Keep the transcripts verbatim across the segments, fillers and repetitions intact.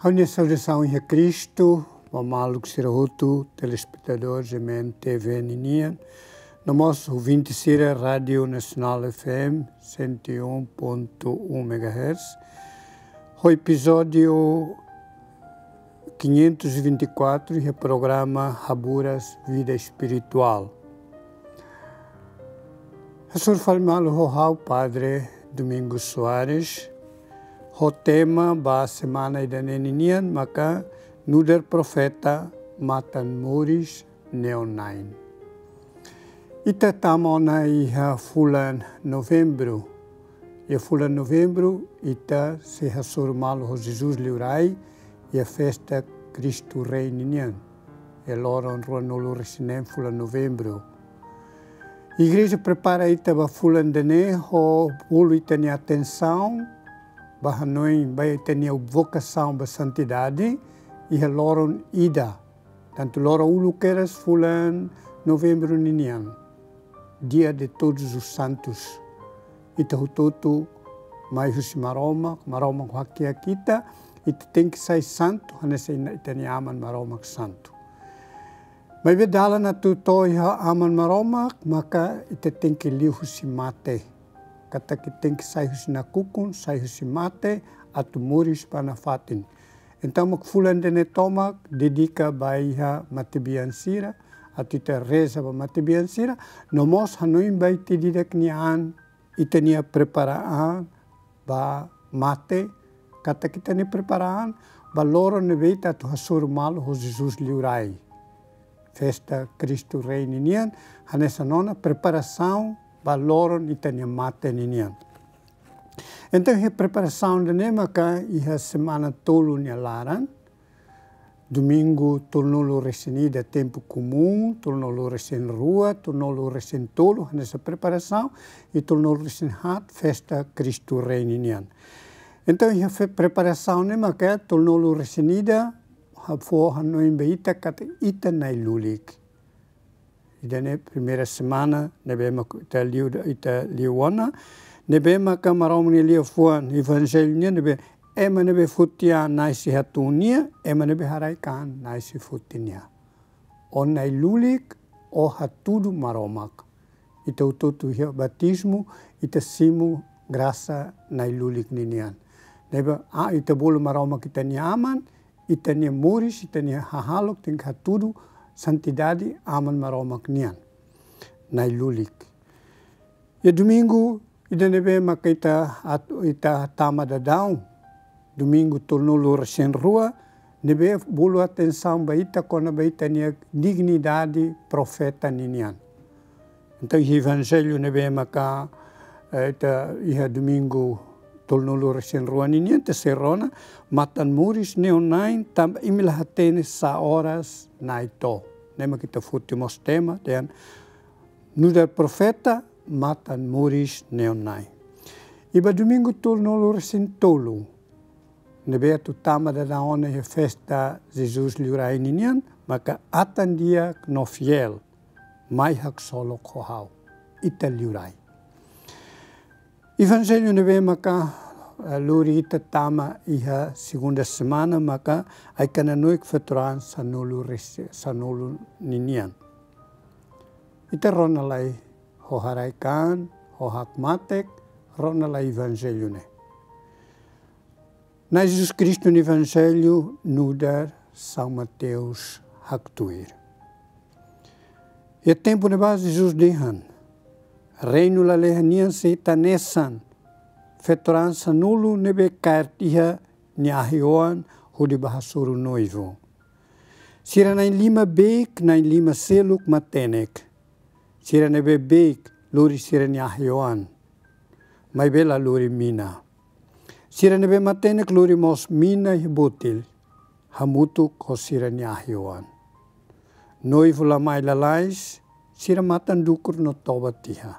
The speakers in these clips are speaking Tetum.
Ha'u-nia saudasaun iha Kristu ba maluk sira hotu, telespetadór G M N T V ninian, no mós ouvinte sira Rádiu Nasionál F M cento e um ponto um megahertz. Ho epizódiu quinhentos e vinte e quatro iha programa Haburas Vida Espirituál. Hasoru fali malu ho ha'u Padre Domingos Soares, ho tema ba semana ida-ne'e ninian maka Nu'udar Profeta, Matan Moris Neon Nine. Ita tama ona iha fulan Novembru. Iha fulan Novembru, ita sei hasoru malu ho Jesus Liurai, iha festa Kristu Rei ninian. Iha loron ruanulu-resin-neen fulan Novembru. Igreja prepara ita ba fulan ida-ne'e ho bolu ita-nia atensaun ba hanoin ba ita-nia vokasaun ba santidade, iha loron ida. Tantu loron uluk kedas fulan Novembru ninian, Dia de Todos os Santos. Ita hotu-hotu mai husi Maromak, Maromak hakiak ita, ita tenke sai santu, hanesan ita-nia Aman Maromak santu. Maibé dalan atu to'o iha Aman Maromak, maka ita tenke liu husi mate. Katak ita tenke sai husi nakukun, sai husi mate, atu moris ba nafatin. Entaun mak fulan ida-ne'e tomak dedika ba iha matebian sira, atu ita reza ba matebian sira, no mós hanoin ba ita ida-idak nia an, ita-nia prepara an ba mate, katak ita-nia prepara an ba loron ne'ebé ita atu hasoru malu ho Jesus Liurai. Festa Kristu Rei ninian, hanesan ona preparasaun ba loron ita-nia mate ninian. Entaun, iha preparasaun ida-ne'e maka iha semana tolu nia laran, Domingu tolunulu-resin-ida tempu komún, tolunulu-resin-rua, tolunulu-resin-tolu hanesan preparasaun, i tolunulu-resin-haat festa Kristu Rei ninian. Entaun, iha fe-, preparasaun ne'e maka tolunulu-resin-ida, ha-, fó hanoin ba ita katak ita na'in-lulik. Ida-ne'e primeira semana ne'ebé mak ita liu, ita liu ona, ne'ebé maka Maromak nia liafuan Evanjellu nian ne'ebé: Ema ne'ebé foti an nasé hatuun nia, ema ne'ebé haraik an nasé foti nia. Ó na'in-lulik, ó hatudu Maromak. Ita hotu-hotu iha batizmu, ita simu grasa na'in-lulik ninian. Ne'ebé, ah, ita bolu Maromak ita-nia Aman, ita-nia moris, ita-nia hahalok tenke hatudu santidade Aman Maromak nian. Na'in-lulik. Iha domingu ida ne'ebé maka ita at-, ita tama daudaun, domingu tolunulu-resin-rua, ne'ebé bolu atensaun ba ita kona-ba ita-nia dignidade profeta ninian. Entaun, iha Evanjellu ne'ebé maka, eh, ita iha domingu tolunulu-resin-rua ninian, ita sei rona: Matan moris neon na'in, tanba imi la hatene sá oras Na'i to'o. Ne'e mak ita foti mós tema dehan: Nu'udar Profeta, Matan moris neon na'in. I ba domingu tolunulu-resin-tolu, ne'ebé atu tama daudaun ona iha festa Jesus Liurai ninian, maka Atan Di'ak no Fiél, mai haksolok ho ha'u, ita liurai. Evanjellu ne'ebé maka, eh, lori ita tama iha segunda semana maka Ai-Kananoik Feto-Raan sanulu-resin-, sanulu ninian. Ita rona lai ho haraik an, ho hakmatek, rona lai Evanjellu ne'e. Na'i Jesus Kristu nia Evanjellu nu'udar São Mateus haktuir. Iha tempu ne'ebá Jesus dehan: Reinu lalehan nian sei hanesan feto-raan sanulu ne'ebé kaer tiha nia ahi-oan hodi bá hasoru noivu. Sira na'in-lima beik, na'in-lima seluk matenek. Sira ne'ebé beik lori sira-nia ahi-oan, maibé la lori mina. Sira ne'ebé matenek lori mós mina iha botil, hamutuk ho sira-nia ahi-oan. Noivu la mai lalais, sira matan dukur no toba tiha.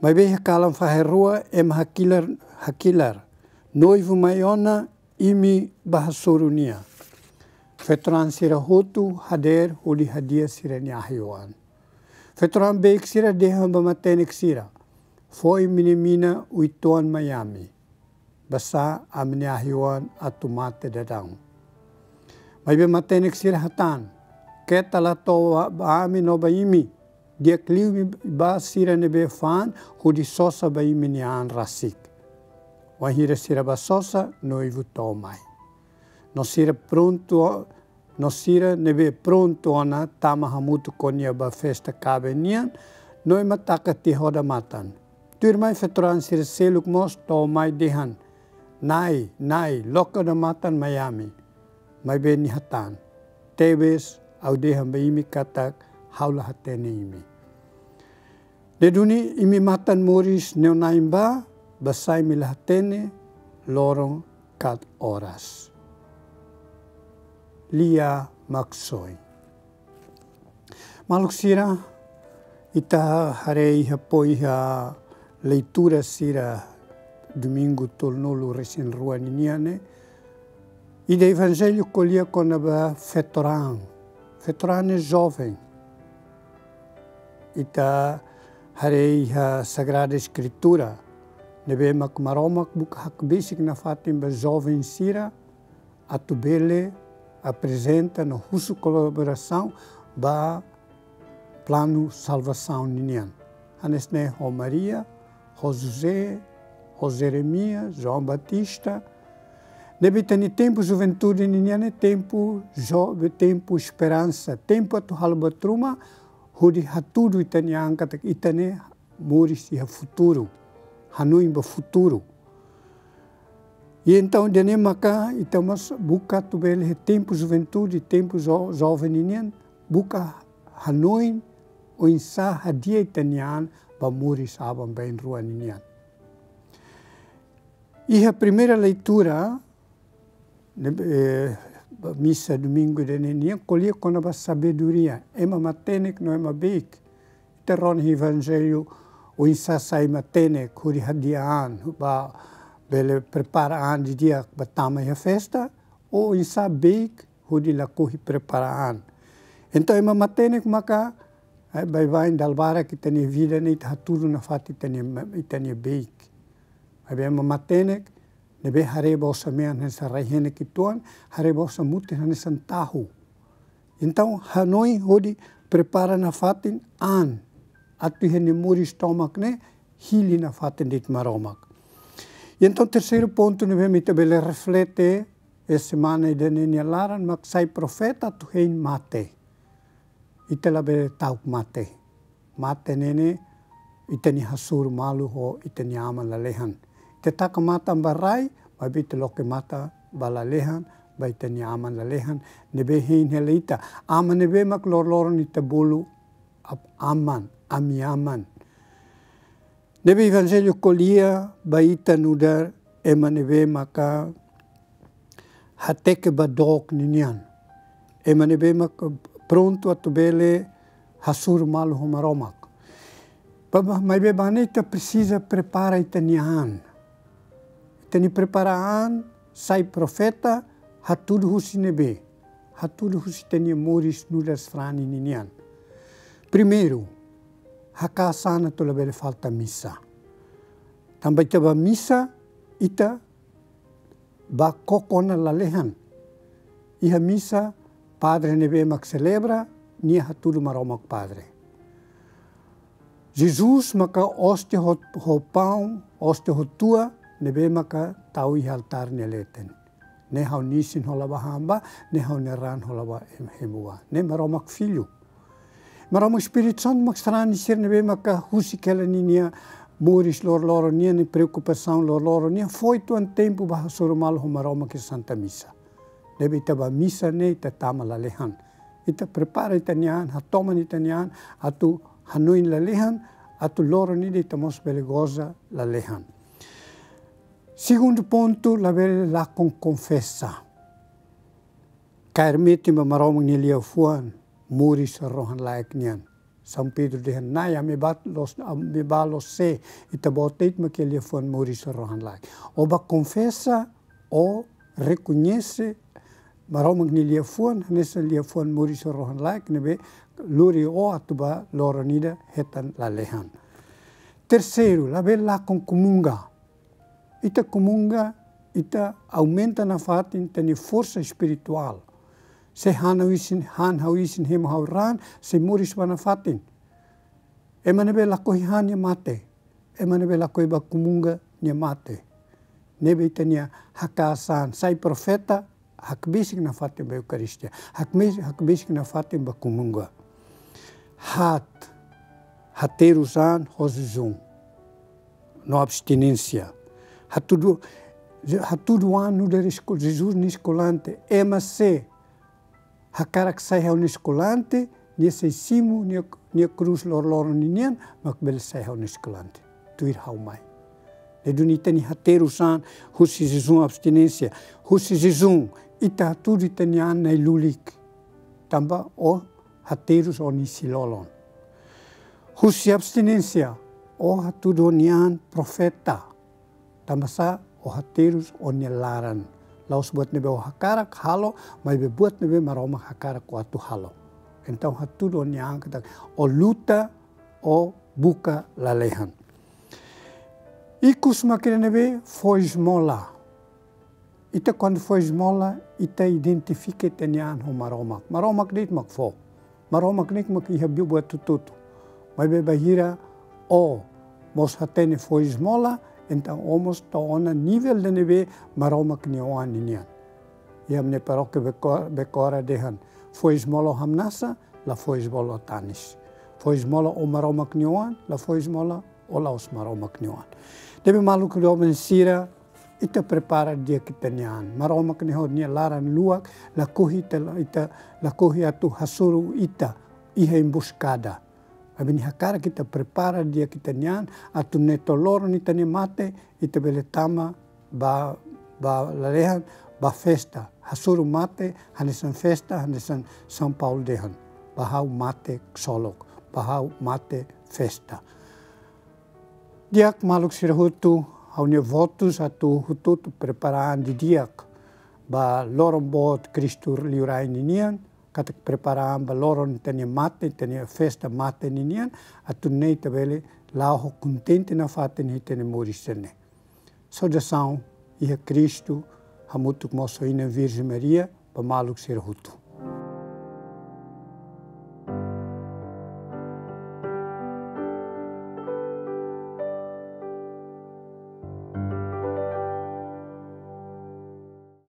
Maibé iha kalan fahe rua ema hakilar, hakilar: Noivu mai ona, imi bá hasoru nia. Feto-raan sira hotu hadeer hodi hadi'a sira-nia ahi-oan. Feto-raan beik sira dehan ba matenek sira: Fó imi-nia mina uitoan mai ami. basá ami-nia ahi-oan atu mate daudaun. Maibé matenek sira hatán: Keta la to'o ba, ba ami no ba imi, di'ak liu imi bá sira ne'ebé fa'an hodi sosa ba imi-nia an rasik. Wainhira sira bá sosa, noivu to'o mai. No sira prontu, no sira ne'ebé prontu ona tama hamutuk ho nia ba festa kaben nian, no ema taka tiha odamatan. Tuirmai feto-raan sira seluk mós to'o mai dehan: Na'i, Na'i, loke odamatan mai ami. Maibé nia hatán: Tebes, ha'u dehan ba imi katak ha'u la hatene imi. Ne'e duni imi matan moris ne'e na'in bá, basá imi la hatene loron ka oras. Lia Maksoin. Maluk sira, ita haree iha pó iha leitura sira domingu tolunulu-resin-rua ninian ne'e, ida evanjellu ko'alia kona-ba feto-raan. Feto-raan ne'e joven. Ita haree iha Sagrada Eskritura, ne'ebé mak Maromak buka hakbesik nafatin ba joven sira, atu bele aprezenta no husu kolaborasaun ba planu salvasaun ninian. Hanesan ne'e ho Maria, ho José, ho Jeremias, João Batista. Ne'ebé ita-nia tempu juventude ninian ne'e tempu jo-, tempu esperansa, tempu atu halo buat ruma, hodi hatudu ita-nia an katak ita ne'e moris iha futuru, hanoin ba futuru. I entaun, ida-ne'e maka ita mós buka atu bele iha tempu juventude, tempu jo-, joven ninian, buka hanoin oinsá hadi'a ita-nia an ba moris aban-bainrua ninian. Iha primeira leitura, ne'e, eh, ba misa domingu ida-ne'e nian, ko'alia kona-ba sabedoria, ema matenek no ema beik. Ita rona evanjellu, oinsá sai matenek hodi hadi'a an, ba bele prepara an didi'ak ba tama iha festa, ou oinsá beik hodi lakohi prepara an. Entaun, ema matenek maka, eh, baibain dala barak ita-nia vida ne'e ita hatudu nafatin ita-nia ma-, ita-nia beik. Maibé ema matenek, ne'ebé haree ba osan-mean hanesan rai-henek uitoan, haree ba osan-mutin hanesan tahu. Entaun, hanoin hodi prepara nafatin an, atu iha nia moris tomak ne'e hili nafatin de'it Maromak. I entaun, terseiru pontu ne'ebé mak ita bele reflete iha semana ida-ne'e nia laran mak sai profeta atu hein mate. Ita labele ta'uk mate. Mate ne'e ne'e ita-nia hasoru malu ho ita-nia aman lalehan. Ita taka matan ba rai, maibé ita loke matan ba lalehan, ba ita-nia aman lalehan, ne'ebé hein hela ita. Aman ne'ebé mak loroloron ita bolu ap-, aman, ami-aman. Ne'ebé evanjellu ko'alia ba ita nu'udar ema ne'ebé maka hateke ba dook ninian. Ema ne'ebé maka prontu atu bele hasoru malu ho Maromak. Ba, ba, maibé ba ne'e ita presiza prepara ita-nia an. Ita-nia prepara an, sai profeta, hatudu husi ne'ebé? Hatudu husi ita-nia moris nu'udar sarani ninian. Primeiru, hakaas an atu labele falta misa. Tanba ita ba misa, ita ba koko ona lalehan. Iha misa, padre ne'ebé mak selebra, nia hatudu Maromak Padre. Jesus maka óstia ho, ho paun, óstia ho tua, ne'ebé maka tau iha altár nia leten. Ne'e ha'u-nia isin hola ba han ba, ne'e ha'u-nia raan hola ba hem-, hemu ba. Ne'e Maromak Filho. Maromak Espíritu Santu mak sarani sira ne'ebé maka husik hela ninia moris loroloron nian, nia preokupasaun loroloron nian, fó uitoan tempu ba hasoru malu ho Maromak iha Santa Misa. Ne'ebé ita ba misa ne'e ita tama lalehan. Ita prepara ita-nia an, hatoman ita-nia an, atu hanoin lalehan, atu loron ida ita mós bele goza lalehan. Segundu pontu, labele lakon konfesa. Kaer metin ba Maromak nia liafuan, moris rohan-laek nian. São Pedro dehan: Na'i, ami bá loos, ami bá loos sé? Ita-Boot de'it mak iha liafuan moris rohan-laek. Ó bá konfesa, ó rekoñese Maromak nia liafuan hanesan liafuan moris rohan-laek ne'ebé lori ó atu ba loron ida hetan lalehan. Terseiru, labele lakon komunga. Ita komunga ita aumenta nafatin ita-nia forsa espirituál. Se han ha'u isin, han ha'u isin, hemu ha'u raan, sei moris ba nafatin. Ema ne'ebé lakohi han nia mate. Ema ne'ebé lakohi ba kumunga nia mate. Ne'ebé ita-nia hakaas an, sai profeta, hakbesik nafatin ba Eukaristia. Hakmes-, hakbesik nafatin ba kumunga. Haat, haterus an ho jejún no abstinénsia. Hatudu, hatudu an nu'udar esko-, Jesus nia eskolante. Ema se hakarak sai ha'u-nia eskolante, nia sei simu nia, nia krús loroloron ninian, mak bele sai ha'u-nia eskolante. Tuir ha'u mai. Ne'e duni ita-nia haterus an, husi jejún, abstinénsia. Husi jejún, ita hatudu ita-nia an na'in-lulik. Tanba ó haterus ó-nia isin-lolon. Husi abstinénsia, ó hatudu ó-nia an profeta. Tanba sá, ó haterus ó-nia laran. La'ós buat ne'ebé ó hakarak halo, maibé buat ne'ebé Maromak hakarak ó atu halo. Entaun hatudu ó-nia an katak ó luta, ó buka lalehan. Ikus mak ida ne'ebé fó esmola. Ita kuandu fó esmola, ita identifika ita-nia an ho Maromak. Maromak de'it mak fó. Maromak nia mak iha buat hotu-hotu. Maibé bainhira ó mós hatene fó esmola, entaun ó mós to'o ona nivel ida ne'ebé Maromak nia oan ninian. Iha ami-nia parókia Beko-, Bekora dehan, fó esmola ó hamnasa, la fó esmola ó tanis. Fó esmola ó Maromak nia oan, la fó esmola ó la'ós Maromak nia oan. Ne'ebé maluk doben sira, ita prepara di'ak ita-nia an. Maromak nia ho nia laran luak, lakohi ita, ita lakohi atu hasoru ita iha embuskada. Maibé nia hakarak ita prepara di'ak ita-nia an, atu nune'e to'o loron ita-nia mate, ita bele tama ba, ba lalehan, ba festa. Hasoru mate, hanesan festa, hanesan São Paulo dehan. Ba ha'u mate ksolok, ba ha'u mate festa. Di'ak maluk sira hotu, ha'u-nia votus atu hotu-hotu prepara an didi'ak ba loron boot Kristu liurai ninian, katak prepara an ba loron ita-nia mate, ita-nia festa mate ninian, atu nune'e ita bele la'o ho kontente nafatin iha ita-nia moris ne'e. Saudasaun iha Kristu, hamutuk mós ho Inan Virjen Maria, ba maluk sira hotu.